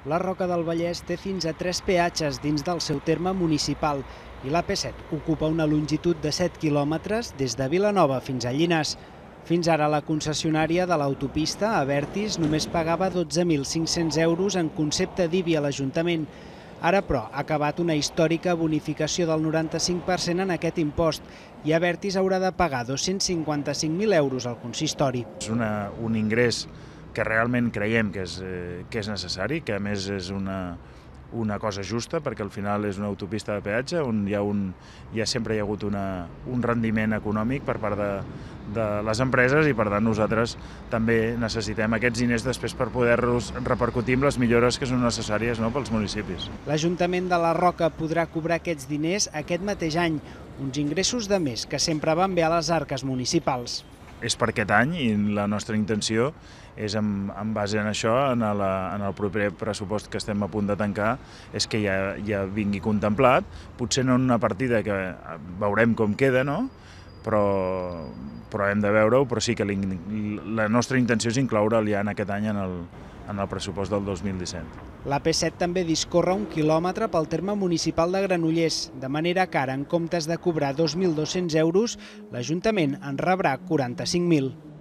La Roca del Vallès té fins a 3 peatges dins del seu terme municipal i l'AP7 ocupa una longitud de 7 quilòmetres des de Vilanova fins a Llinars. Fins ara la concessionària de l'autopista, Abertis, només pagava 12.500 euros en concepte d'IBI a l'Ajuntament. Ara, però, ha acabat una històrica bonificació del 95% en aquest impost i Abertis haurà de pagar 255.000 euros al consistori. És un ingrés que realment creiem que és necessari, que a més és una cosa justa, perquè al final és una autopista de peatge on sempre hi ha hagut un rendiment econòmic per part de les empreses i per tant nosaltres també necessitem aquests diners després per poder-los repercutir amb les millores que són necessàries pels municipis. L'Ajuntament de la Roca podrà cobrar aquests diners aquest mateix any, uns ingressos de més que sempre van bé a les arques municipals. És per aquest any i la nostra intenció és, en base en això, en el proper pressupost que estem a punt de tancar, és que ja vingui contemplat, potser no en una partida que veurem com queda, no? Però hem de veure-ho, però sí que la nostra intenció és incloure'l ja en aquest any en el pressupost del 2017. L'AP7 també discorre 1 quilòmetre pel terme municipal de Granollers, de manera que ara, en comptes de cobrar 2.200 euros, l'Ajuntament en rebrà 45.000.